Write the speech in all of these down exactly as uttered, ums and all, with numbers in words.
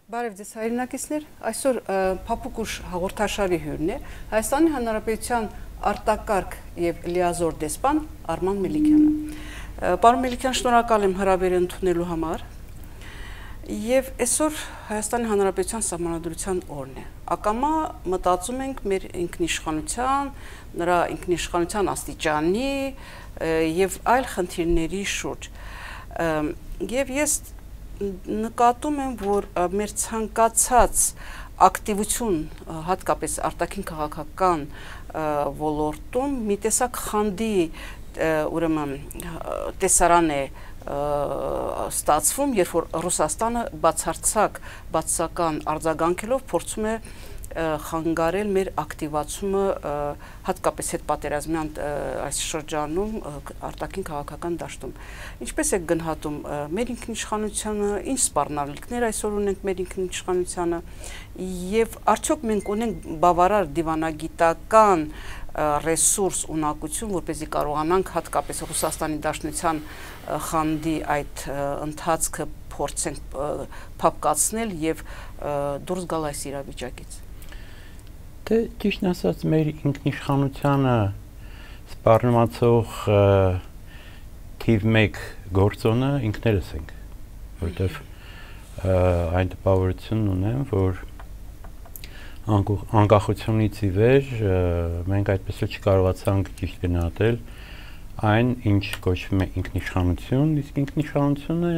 Բարև ձեզ հայրենակիցներ, այսօր փափուկ ուժ հաղորդաշարի հյուրն է Հայաստանի Հանրապետության արտակարգ եւ լիազոր դեսպան Արման Մելիքյանը։ Պարոն Մելիքյան, շնորհակալ եմ հրավերը ընդունելու համար։ Եվ այսօր Հայաստանի Հանրապետության Սահմանադրության օրն է։ Ակամա մտածում ենք մեր ինքնիշխանության, նրա ինքնիշխանության աստիճանի եւ այլ խնդիրների շուրջ։ Եվ ես նկատում եմ, որ մեր ցանկացած ակտիվություն, հատկապես արտաքին քաղաքական ոլորտում մի տեսակ խանդի ուրեմն տեսարան է ստացվում, երբ որ Ռուսաստանը բացարձակ բացասական արձագանքելով փորձում է խանգարել մեր ակտիվացումը հատկապես հետպատերազմյան այս շրջանում արտաքին քաղաքական դաշտում։ Ինչպես է գնահատում մեր ինքնիշխանությունը, ինչ սպառնալիքներ այսօր ունենք մեր ինքնիշխանությանը եւ արդյոք մենք ունենք բավարար դիվանագիտական ռեսուրս, ունակություն, որպեսզի կարողանանք հատկապես Ռուսաստանի Դաշնության խանդի այդ ընթացքը փորձենք փափկացնել եւ դուրս գալ այս իրավիճակից։ Դե ճիշտ ասած մեր ինքնիշխանությանը սպառնացող թիվ մեկ գործոնը ինքներս ենք, որտեվ այն տպավորությունն ունեմ, որ անկախությունից ի վեր մենք այդպես էլ չկարողացանք ճիշտ գնահատել այն, ինչ կոչվում է ինքնիշխանություն, իսկ ինքնիշխանությունը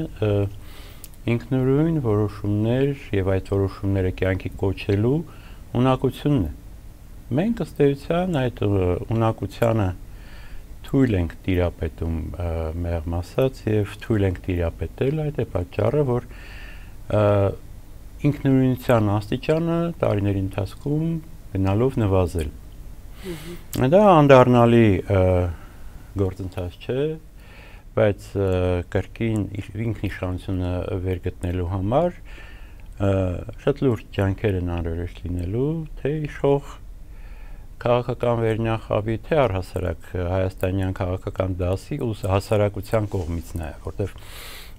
ինքնուրույն որոշումներ եւ այդ որոշումները կյանքի կոչելու ունակությունն է։ Մենք ըստ էության այդ ունակությանը թույլ ենք տիրապետում մեղմ ասած եւ թույլ ենք տիրապետել, այդ է պատճառը, որ ինքնուրույնության աստիճանը տարիների ընթացքում գնալով նվազել։ Դա անդառնալի գործընթաց չէ, բայց կրկին ինքնիշխանությունը վերգտնելու համար շատ լուրջ ջանքեր են անհրաժեշտ լինելու, թե իշխող քաղաքական վերնախավի, թե առհասարակ հայաստանյան քաղաքական դասի ու հասարակության կողմից նաև, որտեղ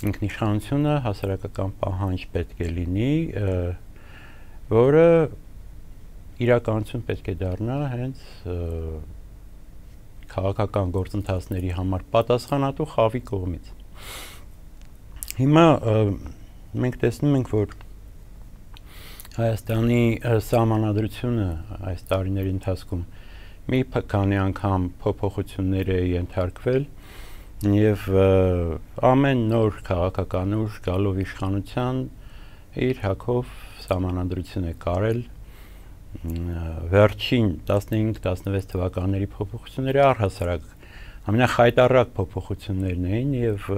ինքնիշխանությունը հասարակական պահանջ պետք է լինի, որը իրականություն պետք է դառնա հենց քաղաքական գործընթացների համար պատասխանատու խավի կողմից։ Հիմա մենք տեսնում ենք, որ Հայաստանի սահմանադրությունը այս տարիների ընթացքում մի քանի անգամ փոփոխություններ է ենթարկվել եւ ամեն նոր քաղաքական ուժ գալով իշխանության իր հակով սահմանադրություն է կարել վերջին տասնհինգ տասնվեց թվականների փոփոխությունները առհասարակ ամենախայտառակ փոփոխություններն էին եւ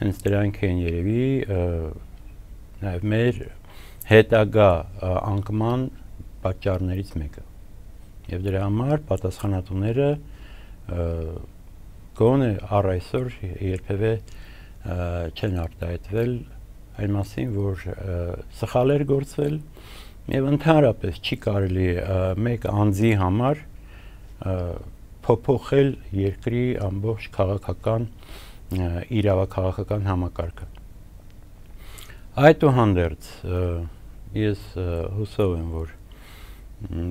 հենց դրանք են երևի նաեւ մեր հետագա անկման պատճառներից մեկը եւ դրա համար պատասխանատուները գոնե առ այսօր երբևէ չեն արտահայտվել այն մասին, որ սխալներ գործվել եւ ընդհանրապես չի կարելի մեկ անձի համար փոփոխել երկրի ամբողջ քաղաքական իրավաքաղաքական համակարգը։ Այդուհանդերձ ես հուսով եմ, որ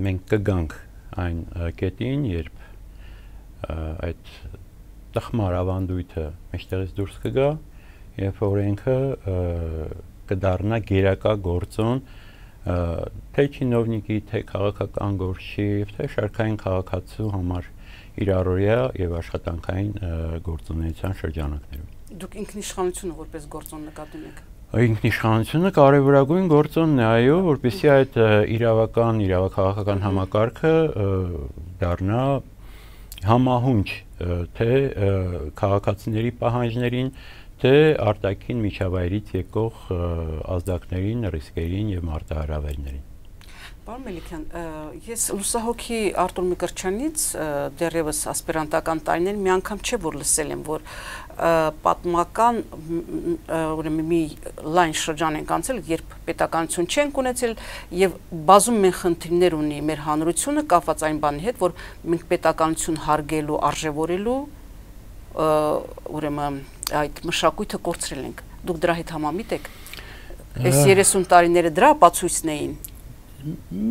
մենք կգանք այն կետին, երբ այդ տխմար ավանդույթը մեջտեղից դուրս կգա եւ օրենքը կդառնա գերակա գործոն թե չինովնիկի, թե քաղաքական գործչի, թե շարքային քաղաքացու համար իր առօրյա եւ աշխատանքային գործունեության շրջանակներում։ Դուք ինքնիշխանությունը որպես գործոն նկատում եք։ Ինքնիշխանությունը կարևորագույն գործոնն է, այո, որպեսզի այդ իրավական, իրավաքաղաքական համակարգը դառնա համահունչ թե քաղաքացիների պահանջներին, թե արտաքին միջավայրից եկող ազդակներին, ռիսկերին եւ մարտահրավերներին։ Պարոն Մելիքյան, ես լուսահոգի Արտուր Միկրչյանից դեռևս ասպիրանտական տարիներին մի անգամ չէ որ լսել եմ, որ պատմական ուրեմն մի լայն շրջան ենք անցել, երբ պետականություն չենք ունեցել եւ բազում մենք խնդիրներ ունի մեր հանրությունը կապված այն բանի հետ, որ մենք պետականություն հարգելու, արժևորելու ուրեմն այդ մշակույթը կորցրել ենք։ Դուք դրա հետ համամիտ եք։ Այս երեսուն տարիները դրա ապացույցն էին։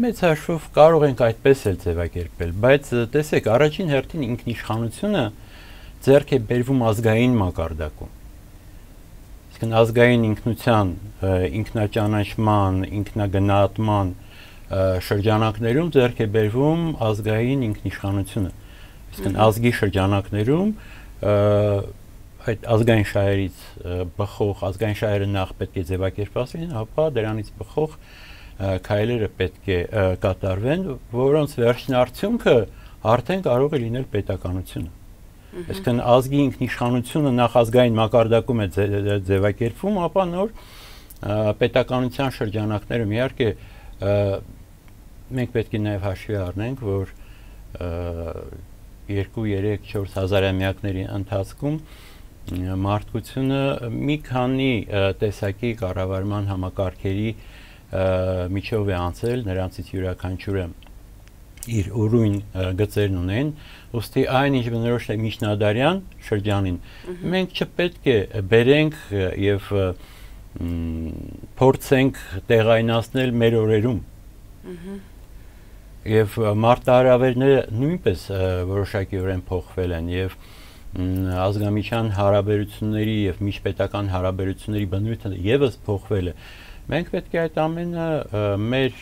Մեծ հաշվով կարող ենք այդպես էլ ձևակերպել, բայց տեսեք, առաջին հերթին ինքնիշխանությունը ձեռք է բերվում ազգային մակարդակում։ Իսկ ազգային ինքնության, ինքնաճանաչման, ինքնագնահատման շրջանակներում ձեռք է բերվում ազգային ինքնիշխանությունը։ Իսկ ազգի շրջանակներում այդ ազգային շահերից բխող, ազգային շահերը նախ պետք է ձևակերպված լինեն, ապա դրանից բխող քայլերը պետք է կատարվեն, որոնց վերջնարդյունքը արդեն կարող է լինել պետականությունը։ Այսինքն ազգի ինքնիշխանությունը նախ ազգային մակարդակում է ձևակերպվում, ապա նոր պետականության շրջանակներում իհարկե մենք պետք է նաև հաշվի առնենք, որ երկու, երեք, չորս հազարամյակների ընթացքում մարդկությունը մի քանի տեսակի կառավարման համակարգերի միջով է անցել, նրանցից յուրաքանչյուրը իր ուրույն գծերն ունեն, ուստի այն ինչ բնորոշ է միջնադարյան շրջանին, մենք չպետք է բերենք եւ փորձենք տեղայնացնել մեր օրերում։ Եվ մարտահրավերները նույնպես որոշակիորեն փոխվել են եւ ազգամիջյան հարաբերությունների եւ միջպետական հարաբերությունների բնույթը եւս փոխվել է։ Մենք պետք է այդ ամենը մեր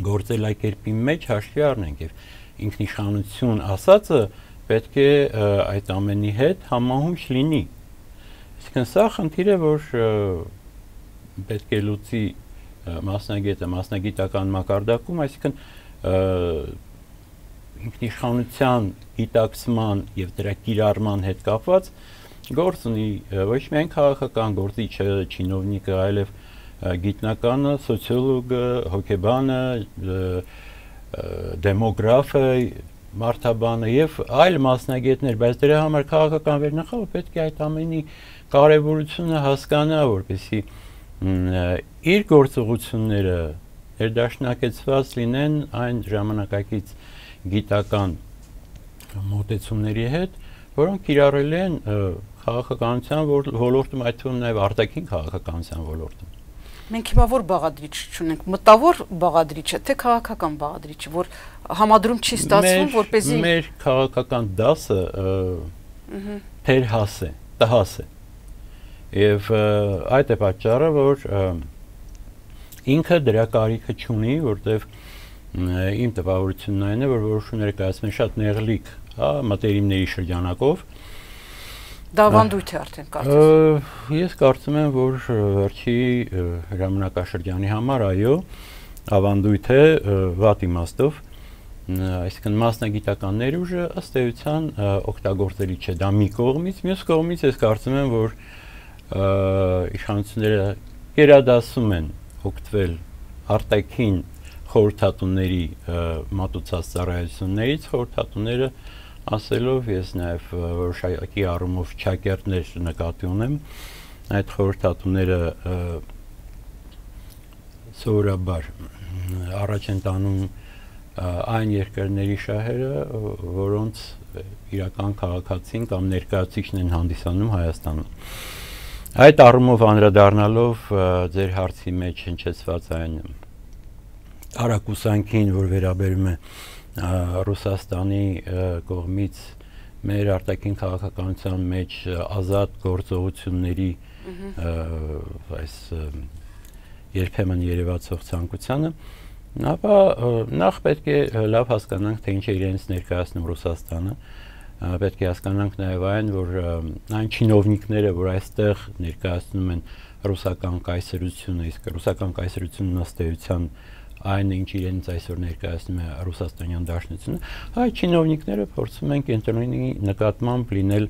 գործելակերպի մեջ հաշվի առնենք եւ ինքնիշխանություն ասածը պետք է այդ ամենի հետ համահունչ լինի։ Այսինքն սա խնդիր է, որ պետք է լուծի մասնագետը մասնագիտական մակարդակում, այսինքն ինքնիշխանության գիտակցման եւ դրա կիրառման հետ կապված գործ ունի ոչ միայն քաղաքական գործիչը, չինովնիկը, այլև գիտնականը, սոցիոլոգը, հոգեբանը, դեմոգրաֆը, մարդաբանը եւ այլ մասնագետներ, բայց դրա համար քաղաքական վերնախավը պետք է այդ ամենի կարեւորությունը հասկանա, որպեսզի իր գործողությունները ներդաշնակեցված լինեն այն ժամանակակից գիտական մոտեցումների հետ, որոնք կիրառել են քաղաքականության ոլորտում, այդ թվում նաև արտաքին քաղաքականության ոլորտում։ Մենք հիմա որ բաղադրիչ չունենք, մտավոր բաղադրիչը, թե քաղաքական բաղադրիչը, որ համադրում չի ստացվում, որպեսզի մեր քաղաքական դասը թերհաս է, տհաս է։ Եվ այդ է պատճառը, որ ինքը դրա կարիքը չունի, որտեղ իմ տպավորությունն այն է, որ որոշումները կայացվեն շատ նեղլիկ, հա, մտերիմների շրջանակով։ Դա ավանդույթ է արդեն կարծես։ Ես կարծում եմ, որ վերջի ժամանակաշրջանի համար այո, ավանդույթ է վատ իմաստով, այսինքն մասնագիտական ներուժը ըստ էության օգտագործելի չէ, դա մի կողմից, մյուս կողմից ես կարծում եմ, որ իշխանությունները գերադասում են օգտվել արտաքին խորհրդատուների մատուցած ծառայություններից, խորհրդատուները ասելով ես նաև որոշակի առումով ճակերտներ նկատի ունեմ, այդ խորհրդատուները սովորաբար առաջ են տանում այն երկրների շահերը, որոնց իրական քաղաքացին կամ ներկայացուցիչն են հանդիսանում Հայաստանում։ Այդ առումով անդրադառնալով ձեր հարցի մեջ հնչեցված այն արագուսանքին, որ վերաբերում է Ռուսաստանի կողմից մեր արտաքին քաղաքականության մեջ ազատ գործողությունների այս երբեմն երևացող ցանկությանը, ապա նախ պետք է լավ հասկանանք, թե ինչ է իրենց ներկայացնում Ռուսաստանը, պետք է հասկանանք նաև այն, որ այն չինովնիկները, որ այստեղ ներկայացնում են ռուսական կայսրությունը, իսկ ռուսական կայսրությունն ըստ էության այն ինչ իրենց այսօր ներկայացնում է ռուսաստանյան դաշնությունը, այդ չինովնիկները փորձում են կենտրոնի նկատմամբ լինել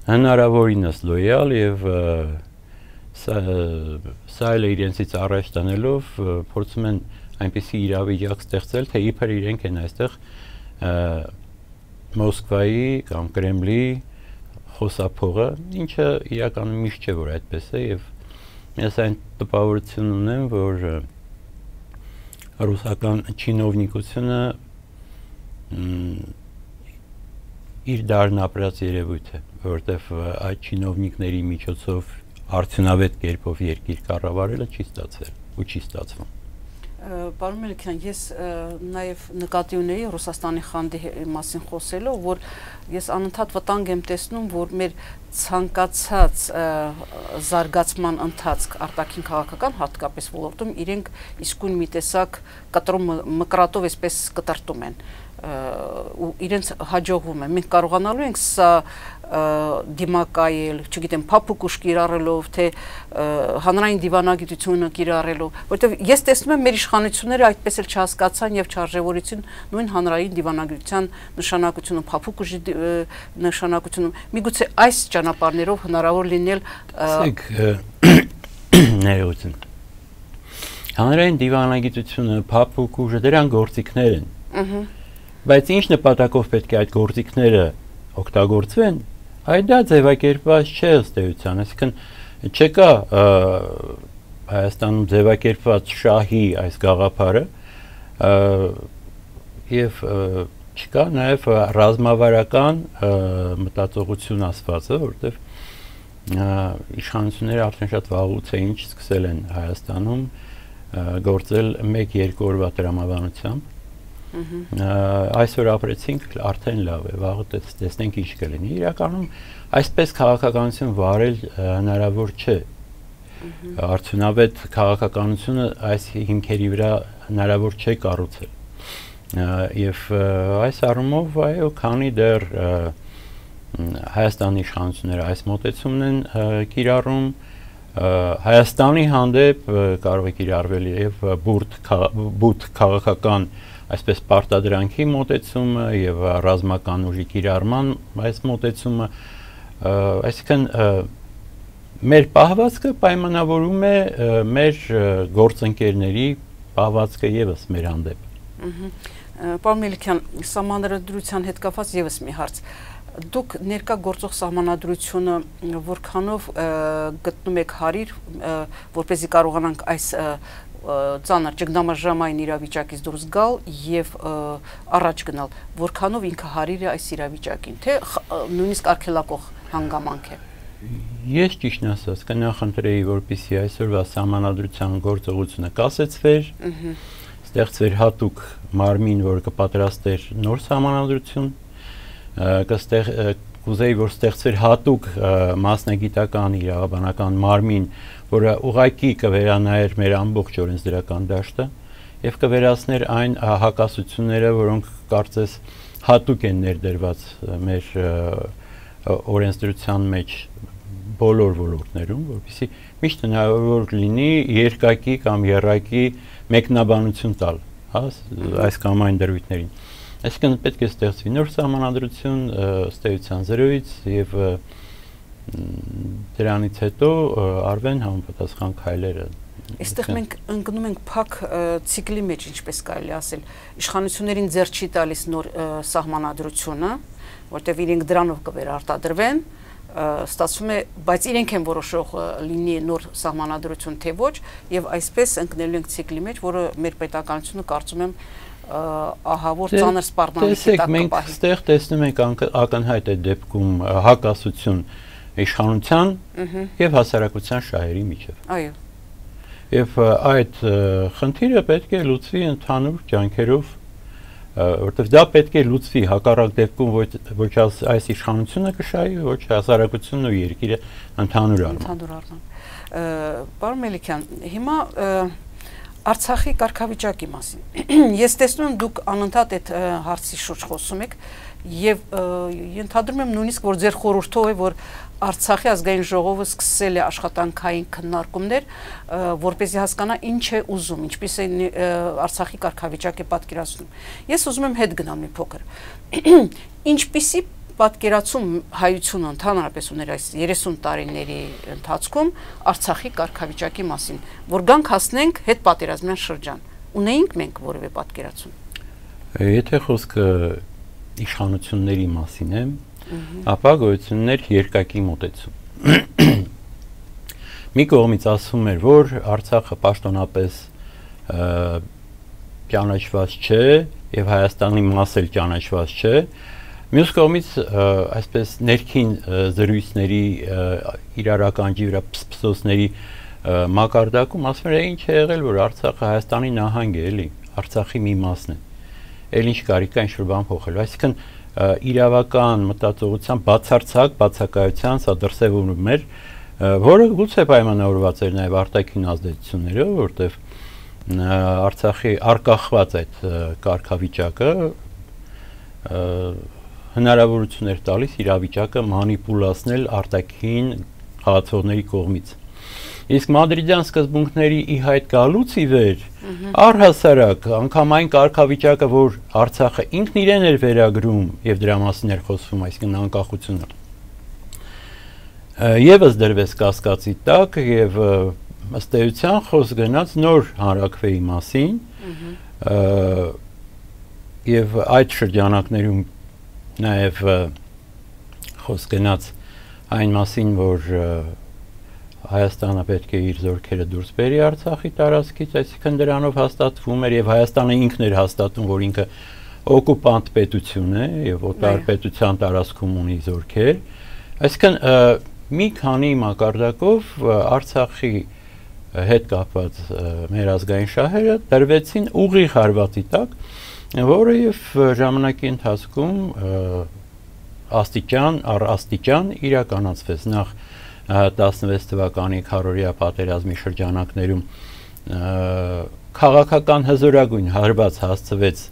հնարավորինս լոյալ եւ սա էլ իրենցից առաջ տանելով փորձում են այնպիսի իրավիճակ ստեղծել, թե իբր իրենք են այստեղ Մոսկվայի կամ Կրեմլի խոսափողը, ինչը իրականում միշտ չէ, որ այդպես է եւ ես այն տպավորություն ունեմ, որ ռուսական չինովնիկությունը իր դարն ապրած երևույթ է, որովհետև այդ չինովնիկների միջոցով արդյունավետ կերպով երկիր կառավարելը չի ստացվել ու չի ստացվում։ Պարոն Մելիքյան, ես նաև նկատի ունեի Ռուսաստանի խանդի մասին խոսելով, որ ես անընդհատ վտանգ եմ տեսնում, որ մեր ցանկացած զարգացման ընթացք արտաքին քաղաքական հատկապես ոլորտում իրենք իսկույն մի տեսակ կտրում մկրատով այսպես կտրտում են ու իրենց հաջողվում է։ Մենք կարողանալու ենք սա դիմակայել, չգիտեմ, փափուկ ուժ կիրառելով, թե հանրային դիվանագիտությունը կիրառելով, որովհետև ես տեսնում եմ մեր իշխանությունները այդպես էլ չհասկացան եւ չարժևորեցին նույն հանրային դիվանագիտության նշանակությունը, փափուկ ուժի նշանակությունը։ Միգուցե այս ճանապարհներով հնարավոր լինել ներողություն։ Հանրային դիվանագիտությունը, փափուկ ուժը դրան գործիքներ են։ Բայց ինչ նպատակով պետք է այդ գործիքները օգտագործվեն, այդ դա ձևակերպված չէ ըստ էության, այսինքն չկա Հայաստանում ձևակերպված շահի այս գաղափարը եւ չկա նաեւ ռազմավարական մտածողություն ասվածը, որտեղ իշխանությունները արդեն շատ վաղուց էին սկսել են Հայաստանում գործել մեկ-երկու օրվա տրամաբանությամբ։ Այսօր ապրեցինք, արդեն լավ է, վաղը տեսնենք ինչ կլինի։ Իրականում այսպես քաղաքականություն վարել հնարավոր չէ։ Արդյունավետ քաղաքականությունը այս հիմքերի վրա հնարավոր չէ կառուցել։ Եվ այս առումով, այո, քանի դեռ Հայաստանի իշխանությունները այս մոտեցումն են կիրառում, Հայաստանի հանդեպ կարող է կիրառվել եւ բուրդ քաղաքական այսպես պարտադրանքի մոտեցումը եւ ռազմական ուժի կիրառման այս մոտեցումը, այսինքն մեր պահվածքը պայմանավորում է մեր գործընկերների պահվածքը եւս մեր հանդեպ։ Պարոն Մելիքյան, սահմանադրության հետ կապված եւս մի հարց։ Դուք ներկա գործող սահմանադրությունը որքանով գտնում եք հարիր, որպեսզի կարողանանք այս ծանր ճգնամաժամային իրավիճակից դուրս գալ եւ առաջ գնալ, որքանով ինքը հարիր է այս իրավիճակին, թե նույնիսկ արգելակող հանգամանք է։ Ես ճիշտն ասած կնախընտրեի, որպեսզի այսօրվա սահմանադրության գործողությունը կասեցվեր, ստեղծվեր հատուկ մարմին, որը կպատրաստեր նոր սահմանադրություն, կստեղ կուզեի, որ ստեղծվեր հատուկ մասնագիտական իրավաբանական մարմին, որը ուղղակի կվերանայեր մեր ամբողջ օրենսդրական դաշտը եւ կվերացներ այն հակասությունները, որոնք կարծես հատուկ են ներդրված մեր օրենսդրության մեջ բոլոր ոլորտներում, որովհետեւ միշտ հնարավոր լինի երկակի կամ եռակի մեկնաբանություն տալ, հա, այս կամ այն դրույթներին։ Այսինքն պետք է ստեղծվի նոր սահմանադրություն ըստ էության զրոյից եւ դրանից հետո արվեն համապատասխան քայլերը։ Այստեղ մենք ընկնում ենք փակ ցիկլի մեջ, ինչպես կարելի ասել, իշխանություններին ձեռ չի տալիս նոր սահմանադրությունը, որտեղ իրենք դրանով կվերարտադրվեն, ստացվում է, բայց իրենք են որոշող լինի նոր սահմանադրություն թե ոչ, եւ այսպես ընկնելու ենք ցիկլի մեջ, որը մեր պետականությունը կարծում եմ ահա որ ծանր սպառնալիքի տակ կպահի։ Մենք այստեղ տեսնում ենք ակնհայտ է դեպքում հակասություն իշխանության եւ հասարակության շահերի միջեւ։ Այո։ Եվ այդ խնդիրը պետք է լուծվի ընդհանուր ջանքերով, որտեղ դա պետք է լուծվի հակառակ դեպքում ոչ այս իշխանությունը կշահի, ոչ հասարակությունն ու երկիրը ընդհանուր առմամբ։ Ընդհանուր առմամբ։ Պարոն Մելիքյան, հիմա Արցախի կարգավիճակի մասին։ Ես տեսնում եմ դուք անընդհատ այդ հարցի շուրջ խոսում եք եւ ենթադրում եմ նույնիսկ որ ձեր խորհուրդով է որ Արցախի ազգային ժողովը սկսել է աշխատանքային քննարկումներ, որպեսզի հասկանա ինչ է ուզում, ինչպես է Արցախի կարգավիճակ է պատկերացնում։ Ես ուզում եմ հետ գնամ մի փոքր։ Ինչպիսի պատկերացում հայությունը ընդհանրապես ուներ այս երեսուն տարիների ընթացքում Արցախի կարգավիճակի մասին, որ գանք հասնենք հետ պատերազմյան շրջան։ Ունեինք մենք որևէ պատկերացում։ Եթե խոսքը իշխանությունների մասին է, ապա գոյություններ երկակի մոտեցում։ Մի կողմից ասում էր, որ Արցախը պաշտոնապես ճանաչված չէ եւ Հայաստանի մաս էլ ճանաչված չէ, Մյուս կողմից այսպես ներքին զրույցների իրարականջի վրա փսփսոցների մակարդակում ասում են ինչ է եղել, որ Արցախը Հայաստանի նահանգ է, էլի, Արցախի մի մասն է։ Էլ ինչ կարիք կա ինչ-որ բան փոխելու։ Այսինքն իրավական մտածողության բացարձակ բացակայության սա դրսևորում էր, որը գուցե պայմանավորված էր նաև արտաքին ազդեցություններով, որտեղ Արցախի արկախված այդ կարգավիճակը հնարավորություն էր տալիս իրավիճակը մանիպուլացնել արտաքին խաղացողների կողմից։ Իսկ մադրիդյան սկզբունքների ի հայտ գալուց ի վեր առհասարակ անգամ այն կարգավիճակը, որ Արցախը ինքն իրեն էր վերագրում եւ դրա մասին էր խոսվում, այսինքն անկախությունը, եւս դրվեց կասկածի տակ եւ ըստ էության խոսք գնաց նոր հանրաքվեի մասին եւ այդ շրջանակներում նաև խոսք գնաց այն մասին, որ Հայաստանը պետք է իր զորքերը դուրս բերի Արցախի տարածքից, այսինքն դրանով հաստատվում էր եւ Հայաստանը ինքն էր հաստատում, որ ինքը օկուպանտ պետություն է եւ օտար պետության տարածքում ունի զորքեր, այսինքն մի քանի մակարդակով Արցախի հետ կապված մեր ազգային շահերը դրվեցին ուղիղ հարվածի տակ, որը եւ ժամանակի ընթացքում աստիճան առ աստիճան իրականացվեց նախ տասնվեց թվականի քառորյա պատերազմի շրջանակներում քաղաքական հզորագույն հարված հասցվեց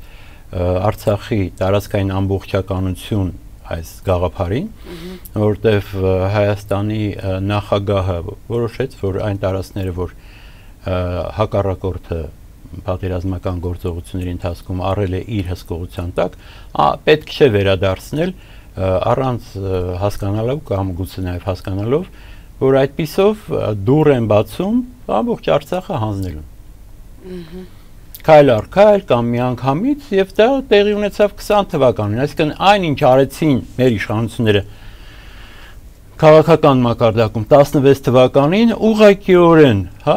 Արցախի տարածքային ամբողջականություն այս գաղափարին, որտեղ Հայաստանի նախագահը որոշեց, որ այն տարածքները, որ հակառակորդը պատերազմական գործողությունների ընթացքում առել է իր հսկողության տակ, պետք չէ վերադարձնել առանց հասկանալով կամ գուցե նաև հասկանալով, որ այդպիսով դուռ են բացում ամբողջ Արցախը հանձնելուն։ Քայլ առ քայլ կամ միանգամից եւ դա տեղի ունեցավ քսան թվականին, այսինքն այն ինչ արեցին մեր իշխանությունները քաղաքական մակարդակում տասնվեց թվականին ուղղակիորեն, հա,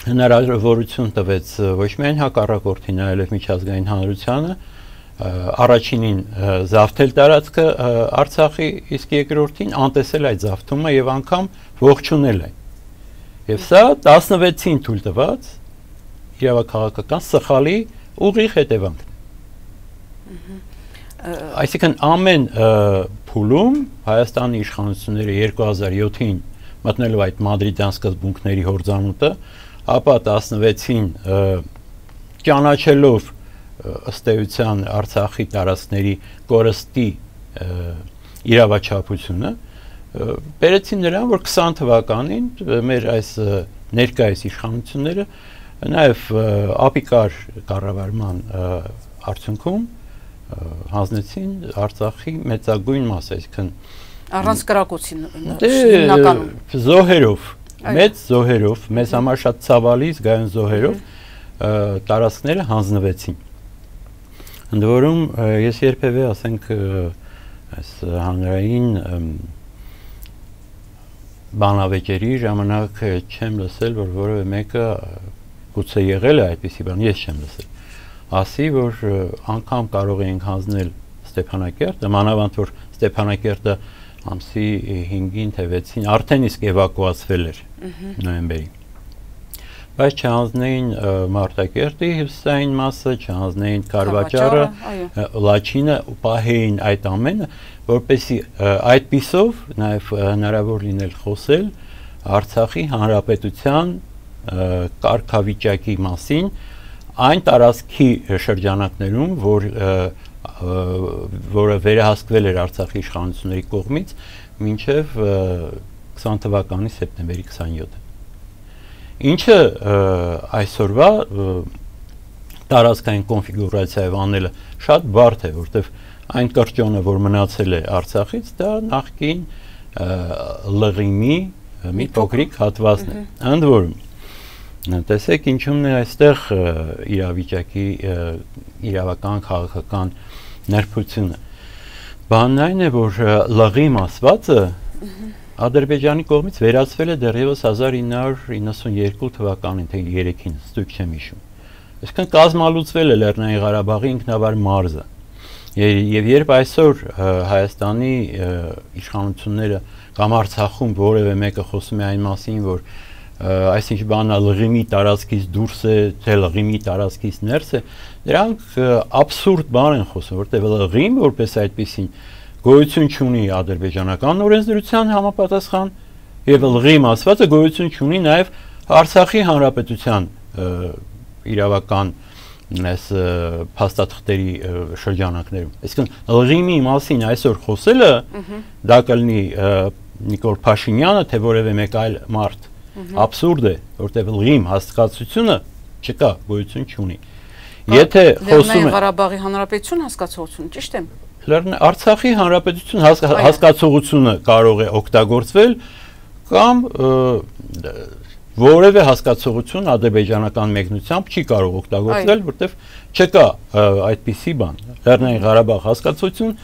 հնարավորություն տվեց ոչ միայն հակառակորդին, այլև միջազգային հանրությանը առաջինին զավթել տարածքը Արցախի, իսկ երկրորդին անտեսել այդ զավթումը եւ անգամ ողջունել այն։ Եվ սա տասնվեցին թույլ տված իրավաքաղաքական սխալի ուղիղ հետևանքն է։ Այսինքն ամեն փուլում Հայաստանի իշխանությունները երկու հազար յոթին մտնելով այդ մադրիդյան սկզբունքների հորձանուտը, ապա տասնվեցին ճանաչելով ըստ էության Արցախի տարածքների կորստի իրավաչափությունը, բերեցին նրան, որ քսան թվականին մեր այս ներկայիս իշխանությունները նաև ապիկար կառավարման արդյունքում հանձնեցին Արցախի մեծագույն մասը, այսինքն առանց կրակոցի հիմնականում զոհերով, մեծ զոհերով, մեզ համար շատ ցավալի զգայուն զոհերով տարածքները հանձնվեցին։ Ընդ որում ես երբևէ, ասենք, այս հանրային բանավեճերի ժամանակ չեմ լսել, որ որևէ մեկը գուցե եղել է այդպիսի բան, ես չեմ լսել, ասի, որ անգամ կարող էինք հանձնել Ստեփանակերտը, մանավանդ որ Ստեփանակերտը ամսի հինգին թե վեցին արդեն իսկ էվակուացվել էր նոյեմբերի, բայց չհանձնեին Մարտակերտի հյուսիսային մասը, չհանձնեին Կարվաճառը, Լաչինը, պահեին այդ ամենը, որպեսզի այդպիսով նաև հնարավոր լինել խոսել Արցախի հանրապետության կարգավիճակի մասին այն տարածքի շրջանակներում, որ որը վերահսկվել էր Արցախի իշխանությունների կողմից մինչև քսան թվականի սեպտեմբերի քսանյոթը։ Ինչը այսօրվա տարածքային կոնֆիգուրացիայով անելը շատ բարդ է, որտեղ այն կրճոնը, որ մնացել է Արցախից, դա նախկին լղիմի մի փոքրիկ հատվածն է։ Ընդ որում, տեսեք ինչումն է այստեղ իրավիճակի իրավական քաղաքական ներբությունը։ Բանն այն է, որ լղիմ ասվածը Ադրբեջանի կողմից վերացվել է դեռևս հազար ինը հարյուր իննսունյոթ թվականին, թե երեքին, ստույգ չեմ հիշում։ Այսինքն կազմալուծվել է Լեռնային Ղարաբաղի ինքնավար մարզը։ Եվ երբ այսօր Հայաստանի իշխանությունները կամ Արցախում որևէ մեկը խոսում է այն մասին, որ այսինչ բանա լղիմի տարածքից դուրս է, թե լղիմի տարածքից ներս է, դրանք աբսուրդ բան են խոսում, որտեղ լղիմ որպես այդպեսին գոյություն չունի ադրբեջանական օրենսդրության համապատասխան եւ լղիմ ասվածը գոյություն չունի նաեւ Արցախի հանրապետության իրավական այս փաստաթղթերի շրջանակներում։ Այսինքն լղիմի մասին այսօր խոսելը դա կլինի Նիկոլ Փաշինյանը, թե որևէ մեկ այլ մարդ աբսուրդ է, որտեղ լղիմ հասկացությունը չկա, գոյություն չունի։ Եթե խոսում է Ղարաբաղի հանրապետություն հասկացողություն, ճիշտ եմ։ Արցախի հանրապետություն հասկացողությունը կարող է օգտագործվել կամ որևէ հասկացողություն ադրբեջանական մեկնությամբ չի կարող օգտագործվել, որտեղ չկա այդպիսի բան։ Լեռնային Ղարաբաղ հասկացություն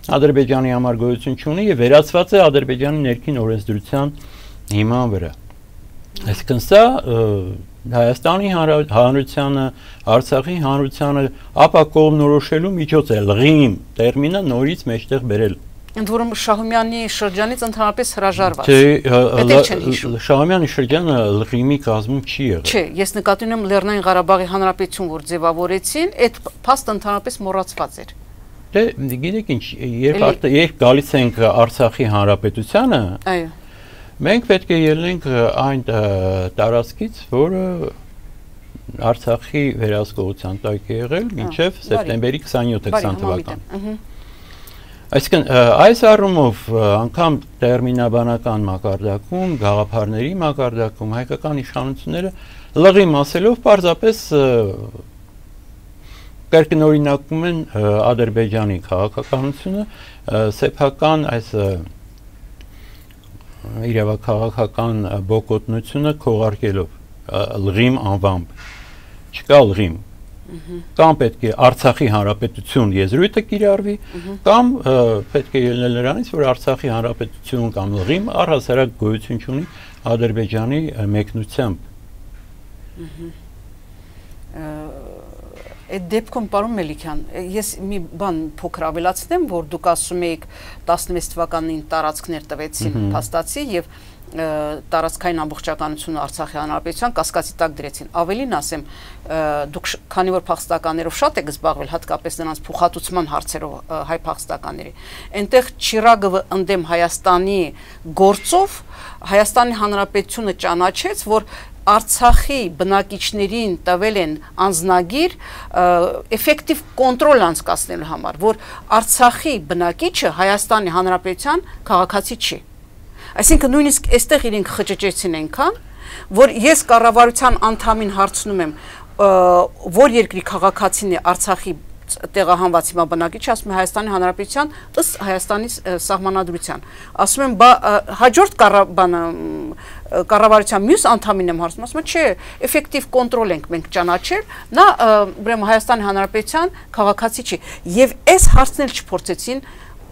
Ադրբեջանի համար գոյություն չունի եւ վերացված է Ադրբեջանի ներքին օրենսդրության հիման վրա։ Այսինքն սա Հայաստանի Հանրությանը, Արցախի Հանրությանը ապակողմնորոշելու միջոց է լղիմ տերմինը նորից մեջտեղ բերել։ Ընդ որում Շահումյանի շրջանից ընդհանրապես հրաժարված։ Չէ, Շահումյանի շրջանը լղիմի կազմում չի եղել։ Չէ, ես նկատի ունեմ Լեռնային Ղարաբաղի հանրապետություն, որ ձևավորեցին, այդ փաստը ընդհանրապես մոռացված էր։ Դե գիտեք ինչ, երբ երբ գալիս ենք Արցախի հանրապետությանը, այո, մենք պետք է ելնենք այն տարածքից, որը Արցախի վերահսկողության տակ է եղել մինչև սեպտեմբերի քսանյոթը քսան թվականը։ Այսինքն այս առումով անգամ տերմինաբանական մակարդակում, գաղափարների մակարդակում հայկական իշխանությունները լղիմ ասելով պարզապես կրկնօրինակում են Ադրբեջանի քաղաքականությունը, սեփական այս իրավաքաղաքական բոկոտնությունը քողարկելով լղիմ անվամբ։ Չկա լղիմ։ Կամ պետք է Արցախի հանրապետություն եզրույթը կիրառվի, կամ պետք է ելնել նրանից, որ Արցախի հանրապետություն կամ լղիմ առհասարակ գոյություն չունի Ադրբեջանի մեկնությամբ։ Այդ դեպքում պարոն Մելիքյան, ես մի բան փոքր ավելացնեմ, որ դուք ասում եք տասնվեց թվականին տարածքներ տվեցին փաստացի եւ տարածքային ամբողջականությունը Արցախի հանրապետության կասկածի տակ դրեցին։ Ավելին ասեմ, դուք քանի որ փախստականներով շատ եք զբաղվել, հատկապես նրանց փոխհատուցման հարցերով հայ փախստականների, այնտեղ Չիրագովը ընդդեմ Հայաստանի գործով Հայաստանի հանրապետությունը ճանաչեց, որ Արցախի բնակիչներին տվել են անձնագիր էֆեկտիվ կոնտրոլ անցկացնելու համար, որ Արցախի բնակիչը Հայաստանի հանրապետության քաղաքացի չի։ Այսինքն նույնիսկ այստեղ իրենք խճճեցին այնքան, որ ես կառավարության անդամին հարցնում եմ, որ երկրի քաղաքացին է Արցախի տեղահանված հիմա բնակիչը, ասում է Հայաստանի հանրապետության ըստ Հայաստանի սահմանադրության։ Ասում եմ, բա հաջորդ կառավարության մյուս անդամին եմ հարցնում, ասում է, չէ, էֆեկտիվ կոնտրոլ ենք մենք ճանաչել, նա ուրեմն Հայաստանի հանրապետության քաղաքացի չի։ Եվ այս հարցն էլ չփորձեցին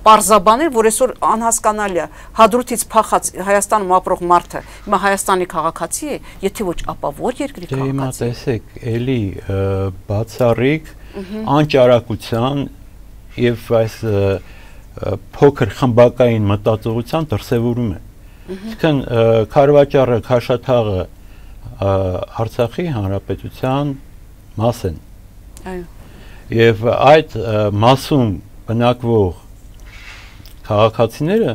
պարզաբանել, որ այսօր անհասկանալի է, հադրութից փախած Հայաստանում ապրող մարդը հիմա Հայաստանի քաղաքացի է, եթե ոչ, ապա ո՞ր երկրի քաղաքացի։ Հիմա տեսեք, էլի բացառիկ անճարակության եւ այս փոքր խմբակային մտածողության դրսևորում է։ Այսինքն Քարվաճառը, Քաշաթաղը Արցախի հանրապետության մաս են։ Այո։ Եվ այդ մասում բնակվող քաղաքացիները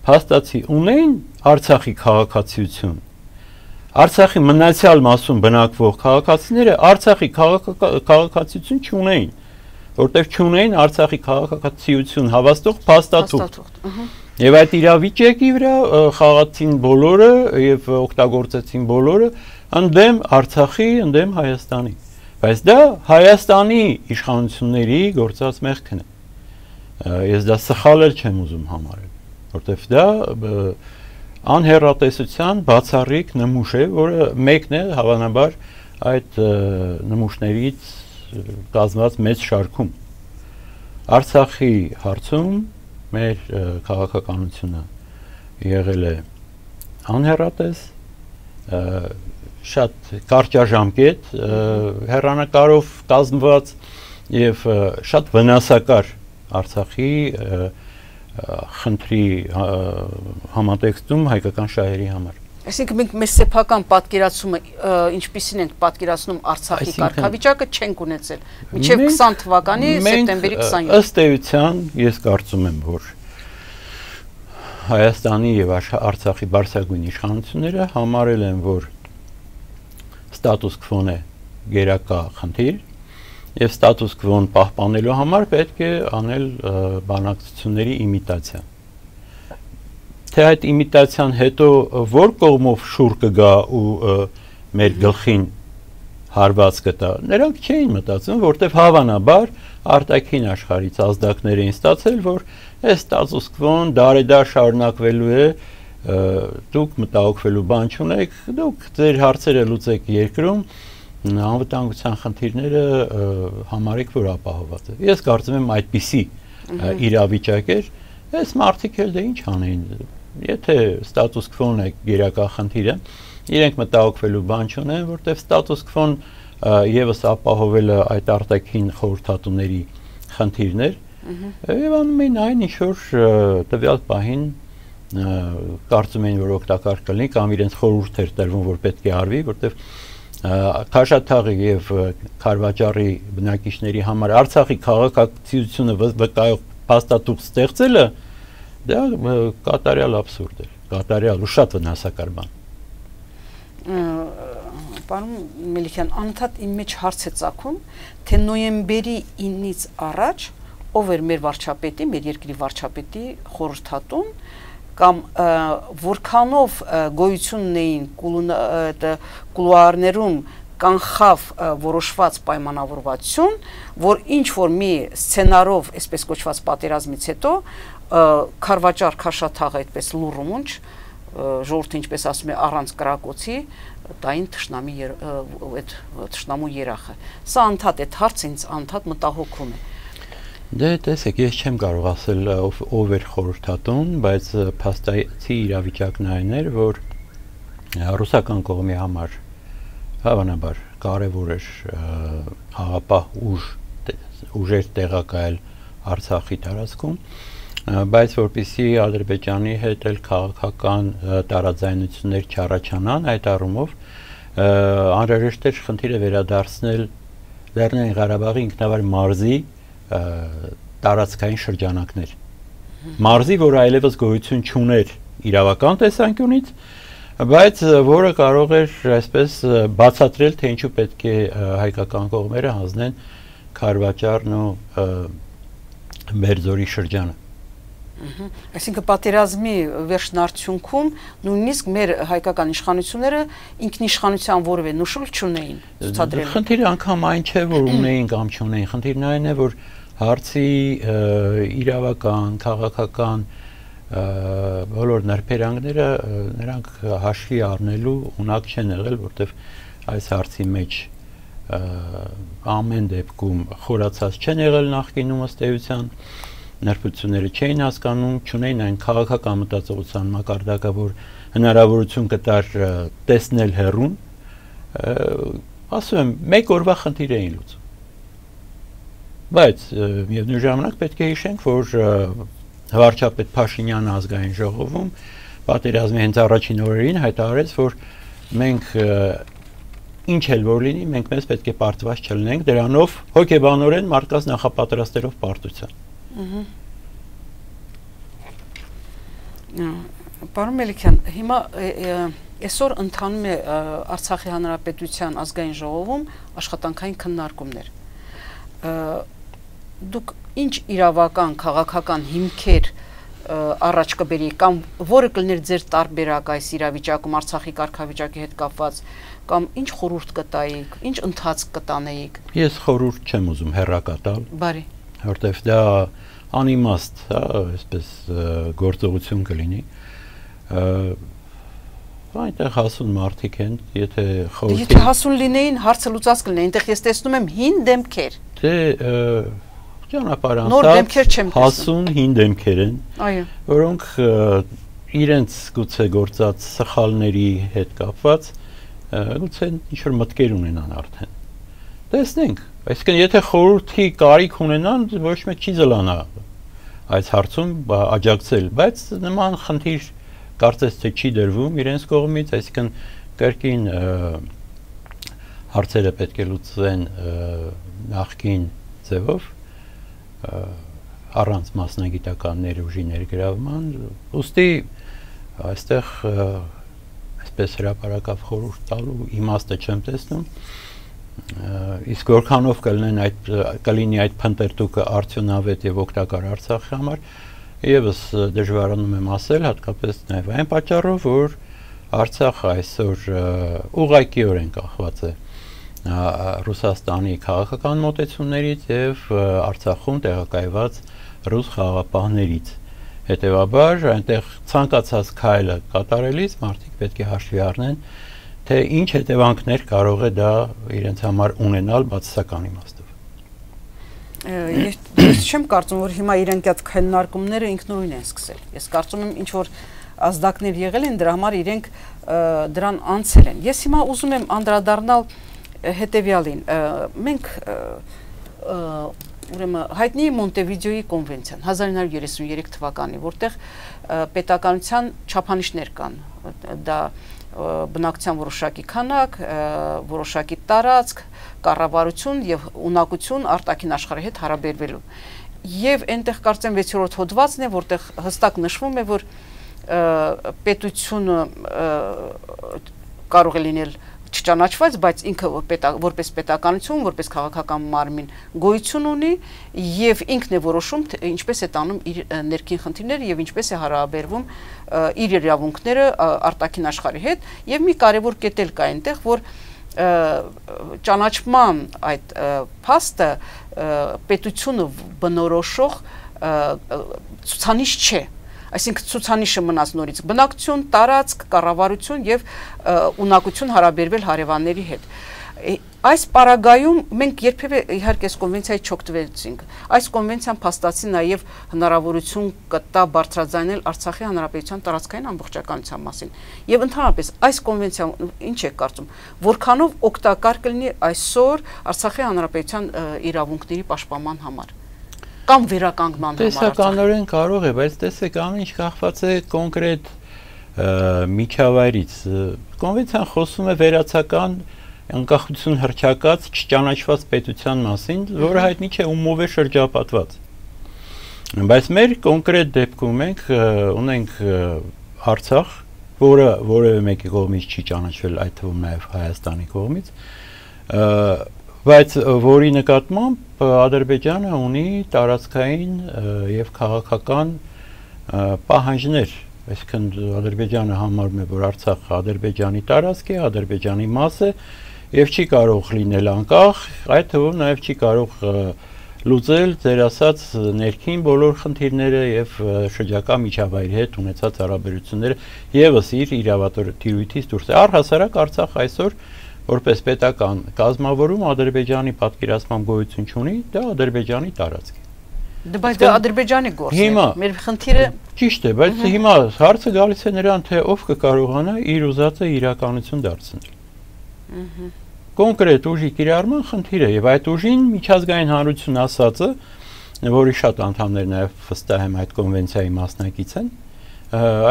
փաստացի ունեն Արցախի քաղաքացիություն։ Արցախի մնացյալ մասում բնակվող քաղաքացիները Արցախի քաղաքացիություն չունեն, որտեղ չունեն Արցախի քաղաքացիություն հավաստող փաստաթուղթ։ Եվ այդ իրավիճակի վրա խաղացին բոլորը եւ օգտագործեցին բոլորը ընդդեմ Արցախի, ընդդեմ Հայաստանի։ Բայց դա Հայաստանի իշխանությունների գործած մեղքն է։ Ես դա սխալ էլ չեմ ուզում համարել, որտեվ դա անհեռատեսության բացառիկ նմուշ է, որը մեկն է հավանաբար այդ նմուշներից կազմված մեծ շարքում։ Արցախի հարցում մեր քաղաքականությունը եղել է անհեռատես, շատ կարճաժամկետ հեռանկարով կազմված եւ շատ վնասակար Արցախի խնդրի համատեքստում հայկական շահերի համար։ Այսինքն մենք մեր սեփական պատկերացումը ինչպիսին ենք պատկերացնում Արցախի կարգավիճակը չենք ունեցել մինչև քսան թվականի սեպտեմբերի քսանյոթը։ Ըստ էության ես կարծում եմ, որ Հայաստանի եւ Արցախի բարձրագույն իշխանությունները համարել են, որ ստատուս քվոն է գերակա խնդիր եւ ստատուս քվոն պահպանելու համար պետք է անել բանակցությունների իմիտացիա։ Թե այդ իմիտացիան հետո որ կողմով շուռ կգա ու մեր գլխին հարված կտա, նրանք չէին մտածում, որտեվ հավանաբար արտաքին աշխարհից ազդակներ էին ստացել, որ այս ստատուս քվոն դարեդար շարունակվելու է, դուք մտահոգվելու բան չունեք, դուք ձեր հարցերը լուծեք երկրում, անվտանգության խնդիրները համարեք, որ ապահոված է։ Ես կարծում եմ այդպիսի իրավիճակ էր, այս մարդիկ էլ դե ինչ անեն։ Եթե ստատուս քվոն է գերակա խնդիրը, իրենք մտահոգվելու բան չունեն, որտեղ ստատուս քվոն եւս ապահովելը այդ արտաքին խորհրդատուների խնդիրներ, եւ անում են այն ինչ որ տվյալ պահին կարծում են, որ օգտակար կլինի կամ իրենց խորհուրդ էր տրվում, որ պետք է արվի, որտեղ Քաշաթաղի եւ Քարվաճառի բնակիչների համար Արցախի քաղաքացիությունը վկայող փաստաթուղթ ստեղծելը դա կատարյալ абսուրդ է, կատարյալ ու շատ վնասակար բան։ Պարոն Մելիքյան, անընդհատ իմ մեջ հարց է ծագում, թե նոյեմբերի ինից առաջ ով էր մեր վարչապետի, մեր երկրի վարչապետի խորհրդատուն, կամ որքանով գոյություն ունեին կուլուարներում կանխավ որոշված պայմանավորվածություն, որ ինչ որ մի սցենարով, այսպես կոչված պատերազմից հետո Քարվաճառ Քաշաթաղը այդպես լուրումունչ, ժողովուրդը ինչպես ասում է առանց կրակոցի, տային թշնամի այդ թշնամու երախը։ Սա անդադ այդ հարցը ինձ անդադ մտահոգում է։ Դե տեսեք, ես չեմ կարող ասել ով էր խորհրդատուն, բայց փաստացի իրավիճակն այն էր, որ ռուսական կողմի համար հավանաբար կարևոր էր խաղապահ ուժ ուժեր տեղակայել Արցախի տարածքում, բայց որպեսզի Ադրբեջանի հետ էլ քաղաքական տարաձայնություններ չառաջանան, այդ առումով անհրաժեշտ էր խնդիրը վերադարձնել Լեռնային Ղարաբաղի ինքնավար մարզի տարածքային շրջանակներ։ Մարզի, որ այլևս գոյություն չուներ իրավական տեսանկյունից, բայց որը կարող էր այսպես բացատրել, թե ինչու պետք է հայկական կողմերը հանձնեն Քարվաճառն ու Բերձորի շրջանը։ Այսինքն պատերազմի վերջնարդյունքում նույնիսկ մեր հայկական իշխանությունները ինքնիշխանության որևէ նշույլ չունեին ցուցադրել։ Խնդիրը անգամ այն չէ, որ ունեին կամ չունեին, խնդիրն այն է, որ հարցի իրավական, քաղաքական բոլոր նրբերանգները նրանք հաշվի առնելու ունակ չեն եղել, որտեղ այս հարցի մեջ ամեն դեպքում խորացած չեն եղել նախկինում ըստ էության, նրբությունները չէին հասկանում, չունեին այն քաղաքական մտածողության մակարդակը, որ հնարավորություն կտար տեսնել հեռուն, ասում եմ, մեկ օրվա խնդիր էին լուծում։ Բայց միևնույն ժամանակ պետք է հիշենք, որ վարչապետ Փաշինյանը ազգային ժողովում պատերազմի հենց առաջին օրերին հայտարարեց, որ մենք ինչ էլ որ լինի, մենք մեզ պետք է պարտված չլինենք, դրանով հոգեբանորեն մարդկանց նախապատրաստելով պարտության։ Պարոն Մելիքյան, հիմա այսօր ընթանում է Արցախի Հանրապետության ազգային ժողովում աշխատանքային քննարկումներ։ Դուք ինչ իրավական, քաղաքական հիմքեր առաջ կբերեիք կամ որը կլիներ ձեր տարբերակ այս իրավիճակում Արցախի կարգավիճակի հետ կապված կամ ինչ խորհուրդ կտայիք, ինչ ընթացք կտանեիք։ Ես խորհուրդ չեմ ուզում հեռակատալ։ Բարի։ Որտեվ դա անիմաստ, հա, այսպես գործողություն կլինի։ Այնտեղ հասուն մարդիկ են, եթե խորհուրդ։ Եթե հասուն լինեին, հարցը լուծած կլինեին, այնտեղ ես տեսնում եմ հին դեմքեր։ Դե ճանապարհ անցած հասուն հին դեմքեր են, այո, որոնք իրենց գուցե գործած սխալների հետ կապված գուցե ինչ-որ մտքեր ունենան արդեն։ Տեսնենք, այսինքն եթե խորհրդի կարիք ունենան, ոչ մեկ չի զլանա այս հարցում աջակցել, բայց նման խնդիր կարծես թե չի դրվում իրենց կողմից, այսինքն կրկին հարցերը պետք է լուծվեն նախկին ձևով, առանց մասնագիտական ներուժի ներգրավման, ուստի այստեղ այսպես հրապարակավ խորհուրդ տալու իմաստը չեմ տեսնում, իսկ որքանով կլինեն այդ կլինի այդ փնտրտուքը արդյունավետ եւ օգտակար Արցախի համար, եւս դժվարանում եմ ասել, հատկապես նաեւ այն պատճառով, որ Արցախը այսօր ուղղակիորեն կախված է Ռուսաստանի քաղաքական մոտեցումներից եւ Արցախում տեղակայված ռուս խաղաղապահներից։ Հետևաբար այնտեղ ցանկացած քայլը կատարելիս մարդիկ պետք է հաշվի առնեն, թե ինչ հետևանքներ կարող է դա իրենց համար ունենալ բացասական իմաստով։ Ես չեմ կարծում, որ հիմա իրենք այդ քննարկումները ինքնուրույն են սկսել։ Ես կարծում եմ, ինչ որ ազդակներ եղել են, դրա համար իրենք դրան անցել են։ Ես հիմա ուզում եմ անդրադառնալ հետևյալին։ Մենք ուրեմն հայտնի Մոնտեվիդեոյի կոնվենցիան հազար ինը հարյուր երեսուններեք թվականի, որտեղ պետականության չափանիշներ կան, դա բնակչության որոշակի քանակ, որոշակի տարածք, կառավարություն եւ ունակություն արտաքին աշխարհի հետ հարաբերվելու։ Եվ այնտեղ կարծեմ վեցերորդ հոդվածն է, որտեղ հստակ նշվում է, որ պետությունը կարող է լինել չճանաչված, բայց ինքը որպես պետականություն, որպես քաղաքական մարմին գոյություն ունի եւ ինքն է որոշում ինչպես է տանում իր ներքին խնդիրները եւ ինչպես է հարաբերվում իր իրավունքները արտաքին աշխարհի հետ եւ մի կարեւոր կետ էլ կա այնտեղ, որ ճանաչման այդ փաստը պետությունը բնորոշող ցուցանիշ չէ։ Այսինքն ցուցանիշը մնաց նորից բնակչություն, տարածք, կառավարություն եւ ունակություն հարաբերվել հարևանների հետ։ Այս պարագայում մենք երբևէ իհարկե այս կոնվենցիայի չօգտվեցինք։ Այս կոնվենցիան փաստացի նաեւ հնարավորություն կտա բարձրաձայնել Արցախի հանրապետության տարածքային ամբողջականության մասին։ Եվ ընդհանրապես այս կոնվենցիան ինչ է կարծում, որքանով օգտակար կլինի այսօր Արցախի հանրապետության իրավունքների պաշտպանման համար։ Կամ վերականգնման համար։ Տեսականորեն կարող է, բայց տեսեք, ամեն ինչ կախված է կոնկրետ միջավայրից։ Կոնվենցիան խոսում է վերացական անկախություն հռչակած չճանաչված պետության մասին, որը հայտնի չէ ումով է շրջապատված։ Բայց մեր կոնկրետ դեպքում մենք ունենք Արցախ, որը որևէ մեկի կողմից չի ճանաչվել, այդ թվում նաև Հայաստանի կողմից, բայց որի նկատմամբ Ադրբեջանը ունի տարածքային եւ քաղաքական պահանջներ, այսինքն Ադրբեջանը համարում է, որ Արցախը Ադրբեջանի տարածք է, Ադրբեջանի մաս է եւ չի կարող լինել անկախ, այդ թվում նաեւ չի կարող լուծել ձեր ասած ներքին բոլոր խնդիրները եւ շրջակա միջավայրի հետ ունեցած հարաբերությունները եւս իր իրավատիրույթից դուրս է։ Առհասարակ Արցախ այսօր որպես պետական կազմավորում Ադրբեջանի պատկերացման գոյություն չունի, դա Ադրբեջանի տարածք է։ Բայց դա Ադրբեջանի գործն է։ Մեր խնդիրը ճիշտ է, բայց հիմա հարցը գալիս է նրան, թե ով կկարողանա իր ուզածը իրականություն դարձնել։ Կոնկրետ ուժի կիրառման խնդիրը եւ այդ ուժին միջազգային հանրություն ասածը, որի շատ անդամներ նաեւ վստահ եմ այդ կոնվենցիայի մասնակից են,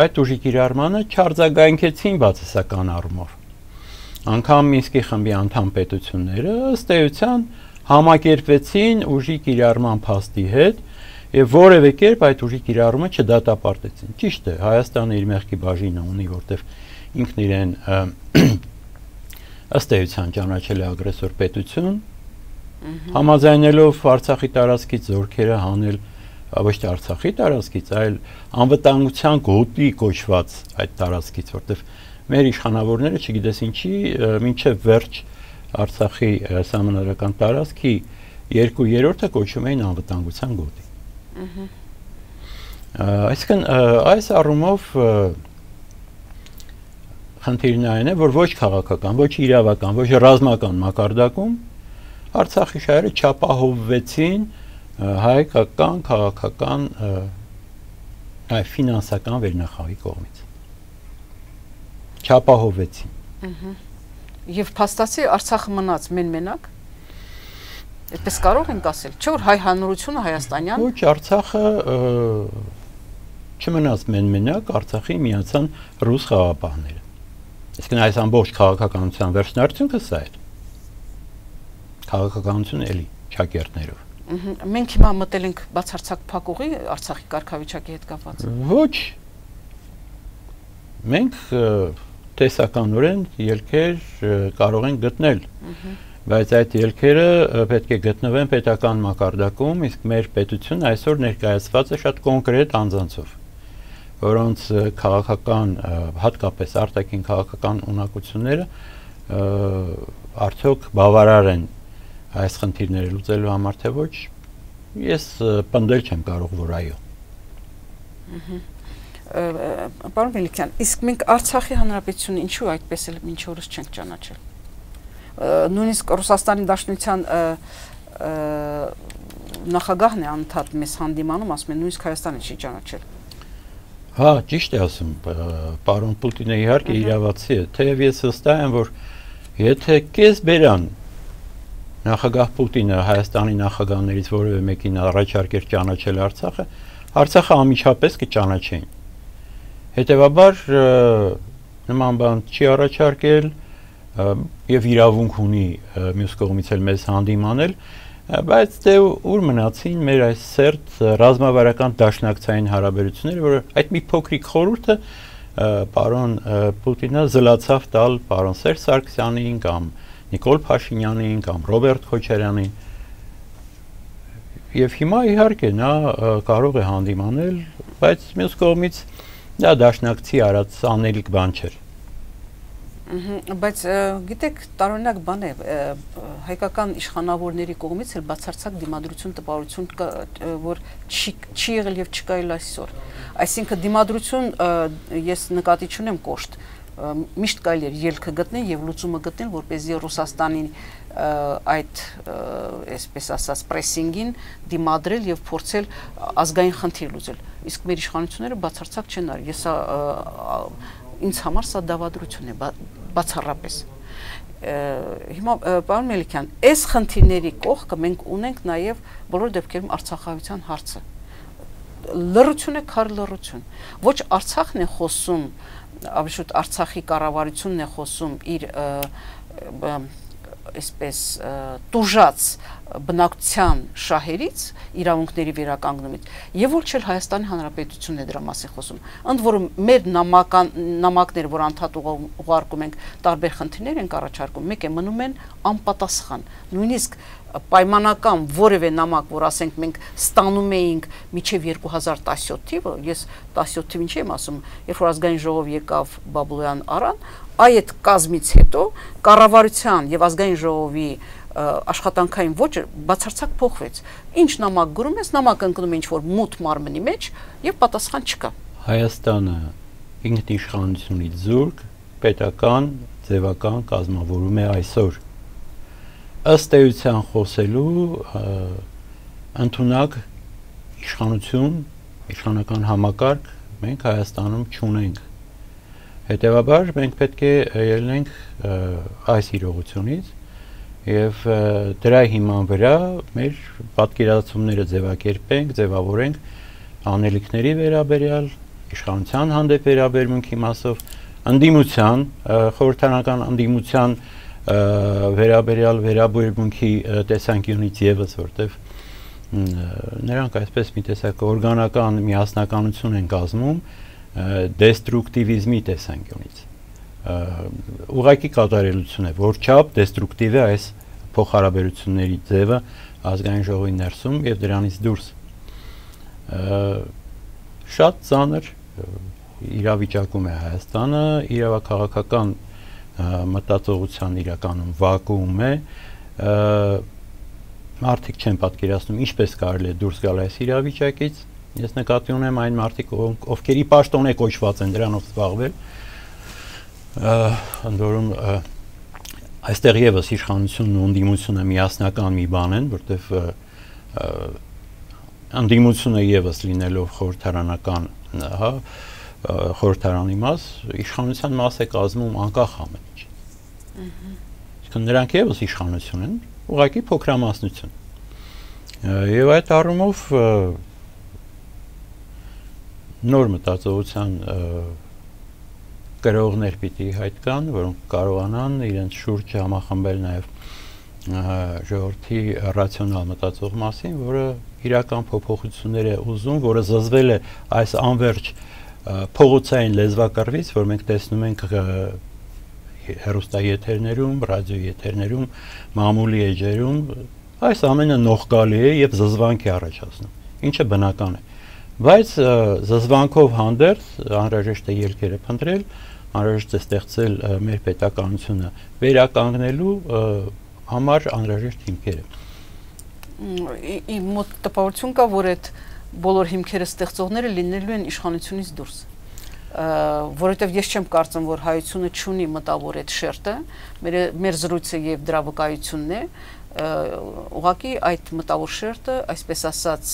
այդ ուժի կիրառմանը չարձագանքեցին բացասական առումով։ Անկամ Մինսկի խմբի անդամ պետությունները ըստ էության համակերպվեցին ուժի կիրառման փաստի հետ եւ որևէ կերպ այդ ուժի կիրառումը չդատապարտեցին։ Ճիշտ է, Հայաստանը իր մեղքի բաժինը ունի, որտեղ ինքն իրեն ըստ էության ճանաչել է ագրեսոր պետություն, համաձայնելով Արցախի տարածքից զորքերը հանել ոչ թե Արցախի տարածքից, այլ անվտանգության գոտի կոչված այդ տարածքից, որտեղ մեր իշխանավորները չգիտես ինչի մինչև վերջ Արցախի սահմանադրական տարածքի երկու երրորդը կոչում էին անվտանգության գոտի։ Այսինքն այս առումով խնդիրն այն է, որ ոչ քաղաքական, ոչ իրավական, ոչ ռազմական մակարդակում Արցախի շահերը չապահովվեցին հայկական, քաղաքական, այլ ֆինանսական վերնախավի կողմից։ Չապահովվեցին։ Եվ փաստացի Արցախը մնաց մեն-մենակ։ Այդպես կարող ենք ասել, չէ՞ որ հայ հանրությունը հայաստանյան։ Ոչ, Արցախը չմնաց մեն-մենակ, Արցախի միացան ռուս խաղաղապահները։ Իսկ այս ամբողջ քաղաքականության վերջնարդյունքը սա էր։ Քաղաքականություն էլի ճակերտներով։ Մենք հիմա մտել ենք բացարձակ փակուղի Արցախի կարգավիճակի հետ կապված։ Ոչ։ Մենք տեսականորեն ելքեր կարող ենք գտնել, բայց այդ ելքերը պետք է գտնվեն պետական մակարդակում, իսկ մեր պետությունը այսօր ներկայացված է շատ կոնկրետ անձանցով, որոնց քաղաքական, հատկապես արտաքին քաղաքական ունակությունները արդյոք բավարար են այս խնդիրները լուծելու համար, թե ոչ, ես պնդել չեմ կարող, որ այո։ Պարոն Մելիքյան, իսկ մենք Արցախի հանրապետությունը ինչու այդպես էլ մինչ օրս չենք ճանաչել։ Նույնիսկ Ռուսաստանի Դաշնության նախագահն է անդադ մեզ հանդիմանում, ասում են նույնիսկ Հայաստանը չի ճանաչել։ Հա, ճիշտ է ասում, պարոն Պուտինը իհարկե իրավացի է, թեև ես վստահ եմ, որ եթե կես բերան նախագահ Պուտինը Հայաստանի նախագահներից որևէ մեկին առաջարկեր ճանաչել Արցախը, Արցախը անմիջապես կճանաչեին։ Հետևաբար նման բան չի առաջարկել եւ իրավունք ունի մյուս կողմից էլ մեզ հանդիմանել, բայց դե ուր մնացին մեր այս սերտ ռազմավարական դաշնակցային հարաբերությունները, որ այդ մի փոքրիկ խորհուրդը պարոն Պուտինը զլացավ տալ պարոն Սերժ Սարգսյանին կամ Նիկոլ Փաշինյանին կամ Ռոբերտ Քոչարյանին։ Եվ հիմա իհարկե նա կարող է հանդիմանել, բայց մյուս կողմից դա դաշնակցի արած անելիք բան չէր։ Բայց գիտեք, տարօրինակ բան է, հայկական իշխանավորների կողմից էլ բացարձակ դիմադրություն տպավորություն կա, որ չի եղել եւ չկա էլ այսօր։ Այսինքն դիմադրություն ես նկատի չունեմ կոշտ, միշտ կարելի է ելքը գտնել եւ լուծումը գտնել, որպեսզի Ռուսաստանին այդ այսպես ասած պրեսինգին դիմադրել եւ փորձել ազգային խնդիր լուծել։ Իսկ մեր իշխանությունները բացարձակ չեն արել։ Ես ինձ համար սա դավադրություն է, բացառապես։ Հիմա պարոն Մելիքյան, այս խնդիրների կողքը մենք ունենք նաեւ բոլոր դեպքերում Արցախահայության հարցը։ Լռություն է քար լռություն։ Ոչ Արցախն է խոսում, ավելի շուտ Արցախի կառավարությունն է խոսում իր այսպես տուժած բնակության շահերից, իրավունքների վերականգնումից, եւ ոչ էլ Հայաստանի Հանրապետությունն է դրա մասին խոսում։ Ընդ որում մեր նամական նամակները, որ անդադ ուղարկում ենք, տարբեր խնդիրներ ենք առաջարկում, մեկ է մնում են անպատասխան։ Նույնիսկ պայմանական որևէ նամակ, որ ասենք մենք ստանում էինք մինչև երկու հազար տասնյոթ թիվը, ես տասնյոթ թիվին չեմ ասում, երբ որ ազգային ժողով եկավ Բաբլոյան Արան, այդ կազմից հետո կառավարության եւ ազգային ժողովի աշխատանքային ոճը բացարձակ փոխվեց։ Ինչ նամակ գրում ես, նամակ ընկնում է ինչ-որ մութ մարմնի մեջ եւ պատասխան չկա։ Հայաստանը ինքնիշխանությունից զուրկ պետական ձևական կազմավորում է այսօր։ Ըստ էության խոսելու ընդունակ իշխանություն, իշխանական համակարգ մենք Հայաստանում չունենք։ Հետևաբար մենք պետք է ելնենք այս իրողությունից եւ դրա հիման վրա մեր պատկերացումները ձևակերպենք, ձևավորենք անելիքների վերաբերյալ, իշխանության հանդեպ վերաբերմունքի մասով, ընդդիմության, խորհրդարանական ընդդիմության վերաբերյալ վերաբերմունքի տեսանկյունից եւս, որտեվ նրանք այսպես մի տեսակ օրգանական միասնականություն են կազմում դեստրուկտիվիզմի տեսանկյունից։ Ուղղակի կատարելություն է, որ չափ դեստրուկտիվ է այս փոխհարաբերությունների ձևը ազգային ժողովի ներսում եւ դրանից դուրս։ Շատ ծանր իրավիճակում է Հայաստանը, իրավաքաղաքական մտածողության իրականում վակուում է, մարդիկ չեն պատկերացնում ինչպես կարելի է դուրս գալ այս իրավիճակից, ես նկատի ունեմ այն մարդիկ, ովքերի պաշտոն է կոչված են դրանով զբաղվել, ընդ որում այստեղ եւս իշխանությունն ու ընդդիմությունը միասնական մի բան են, որտեվ ընդդիմությունը եւս լինելով խորհրդարանական, հա, խորհրդարանի մաս, իշխանության մաս է կազմում անկախ ամեն ինչ։ Իսկ նրանք եւս իշխանություն են, ուղղակի փոքրամասնություն։ Եվ այդ առումով նոր մտածողության գրողներ պիտի հայտ կան, որոնք կարողանան իրենց շուրջ համախմբել նաև ժողովրդի ռացիոնալ մտածող մասին, որը իրական փոփոխություններ է ուզում, որը զզվել է այս անվերջ փողոցային լեզվակռվից, որ մենք տեսնում ենք հեռուստաեթերներում, ռադիոեթերներում, մամուլի էջերում, այս ամենը նողկալի է եւ զզվանք է առաջացնում, ինչը բնական է։ Բայց զզվանքով հանդերձ անհրաժեշտ է ելքերը փնտրել, անհրաժեշտ է ստեղծել մեր պետականությունը վերականգնելու համար անհրաժեշտ հիմքերը։ Իմ մոտ տպավորություն կա, որ այդ բոլոր հիմքերը ստեղծողները լինելու են իշխանությունից դուրս։ Որովհետև ես չեմ կարծում, որ հայությունը չունի մտավոր այդ շերտը, մեր զրույցը եւ դրա վկայությունն է, ուղղակի այդ մտավոր շերտը, այսպես ասած,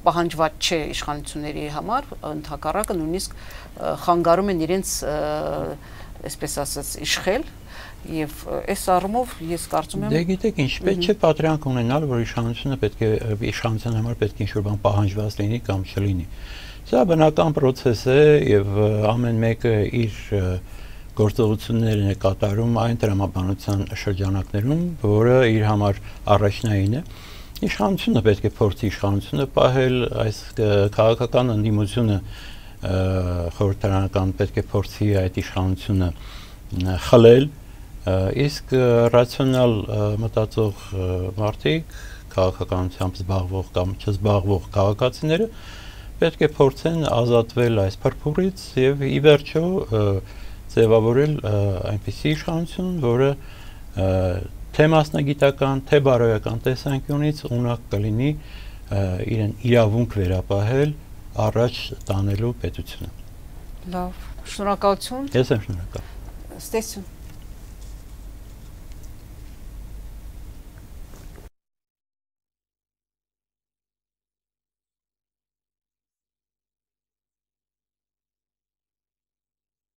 պահանջված չէ իշխանությունների համար, ընդհակառակը նույնիսկ խանգարում են իրենց, այսպես ասած, իշխել, եւ այս առումով ես կարծում եմ։ Դե գիտեք ինչ, պետք չէ պատրանք ունենալ, որ իշխանությունը պետք է իշխանության համար պետք է ինչ-որ բան պահանջված լինի կամ չլինի։ Սա բնական process է եւ ամեն մեկը իր գործողություններն է կատարում այն տրամաբանության շրջանակներում, որը իր համար առաջնային է։ Իշխանությունը պետք է փորձի իշխանությունը պահել, այս քաղաքական ընդդիմությունը խորհրդարանական պետք է փորձի այդ իշխանությունը խլել, իսկ ռացիոնալ մտածող մարդիկ, քաղաքականությամբ զբաղվող կամ չզբաղվող քաղաքացիները պետք է փորձեն ազատվել այս փրփուրից եւ ի վերջո ձևավորել այնպիսի իշխանություն, որը թե մասնագիտական, թե բարոյական տեսանկյունից ունակ կլինի իրեն իրավունք վերապահել առաջ տանելու պետությունը։ Լավ, շնորհակալություն։ Ես եմ շնորհակալ։ Ստեսություն։